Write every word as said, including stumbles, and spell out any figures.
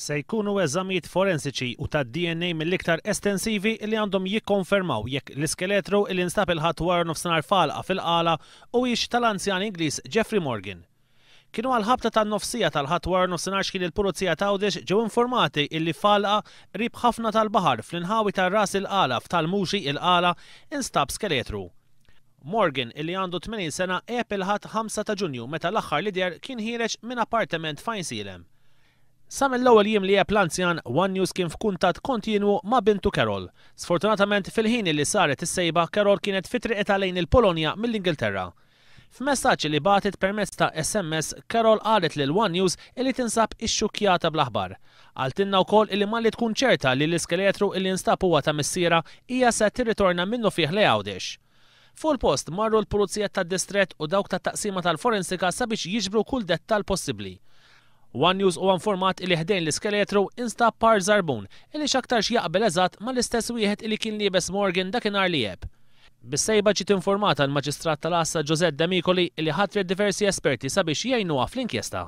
Se jkunu eżamijiet forensiċi u tad-D N A mill-iktar estensivi li għandhom jikkonfermaw jekk l-iskeletru li nstab il-Ħadd wara nofsinhar f'għalqa fil-Qala huwiex tal-anzjan Ingliż Jeffrey Morgan. Kienu għal-ħabta tan-nofsija tal-Ħadd wara nofsinhar x'kien il-Pulizija t'Għawdex ġew informati illi f'għalqa qrib ħafna tal-baħar fl-inħawi tar-Ras il-Qala f'Tal-Muxi, il-Qala, instab skeletru. Morgan, illi għandu tmenin sena, għeb il-Ħadd ħamsa ta' Ġunju, meta l-aħħar li deher kien ħiereġ minn appartament f'Għajnsielem. Sa mill-ewwel jiem li għeb l-anzjan, One News kien f'kuntatt kontinwu ma' bintu Carol. Sfortunatament, fil-ħin li saret is-sejba, Carol kienet fi triqitha lejn il-Polonja mill-Ingilterra. F'messaġġ li bagħtet permezz ta' S M S, Carol qalet lil One News illi tinsab ixxukkjata bl-aħbar. Qaltilna wkoll illi malli tkun ċerta li l-iskeletru illi nstab huwa ta' missierha, hija se tirritorna minnufih lejn Għawdex. Fuq il-post marru l-Pulizija tad-Distrett u dawk tat-taqsima tal-forensika sabiex jiġbru kull dettal possibbli. One News huwa informat li ħdejn l-iskeletru instab par zarbun illi x'aktarx jaqbel eżatt mal-istess wieħed illi kien liebes Morgan dakinhar li għeb. Bis-sejba ġiet informata l-Maġistrat tal-Għassa Josette Demicoli, li ħatret diversi esperti sabiex jgħinuha fl-inkjesta.